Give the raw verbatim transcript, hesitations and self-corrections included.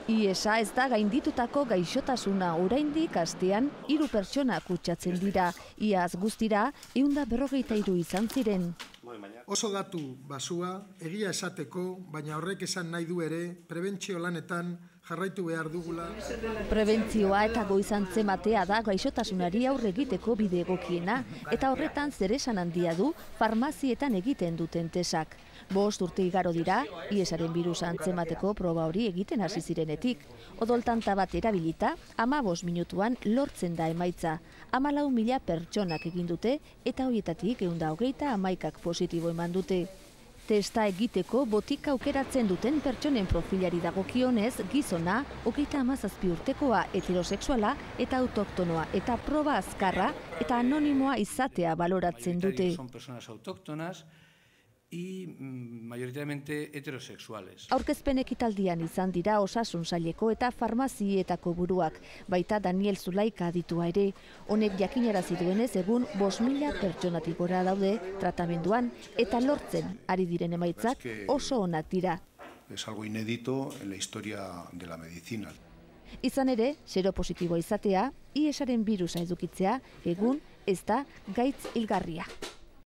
I E S-a ez da gainditutako gaixotasuna, oraindik astean hiru pertsona kutsatzen dira. Iaz guztira, ehun eta berrogeita hiru izan ziren. Oso datu basua, egia esateko, baina horrek esan nahi du ere, prebentzio lanetan jarraitu behar dugula. Prebentzioa eta goizantzematea da gaixotasunari aurre egiteko bide egokiena, eta horretan zeresan handia du farmazietan egiten duten tesak. Bost urte igaro dira, I E S-aren birusa antzemateko proba hori egiten hasi zirenetik. Odoltanta bat erabilita, hamabost minutuan lortzen da emaitza. Hamalau mila pertsonak egin dute, eta horietatik ehun eta hogeita hamaikak positibo eman dute. Testa egiteko botika aukeratzen duten pertsonen profilari dagokionez, gizona, hogeita hamazazpi urtekoa, heterosexuala eta autoktonoa, eta proba azkarra eta anonimoa izatea baloratzen dute. Son personas autóctonas y mayoritariamente heterosexuales. Aurkezpen ekitaldian izan dira Osasun Saileko eta farmazietako buruak, baita Daniel Zulaika aditua ere. Honek jakinarazi duenez egun bost mila pertsonatik gora daude tratamenduan eta lortzen ari diren emaitzak oso onak dira. Es algo inédito en la historia de la medicina. Izan ere, seropositiboa izatea, I E S-aren birusa edukitzea, egun ez da gaitz hilgarria.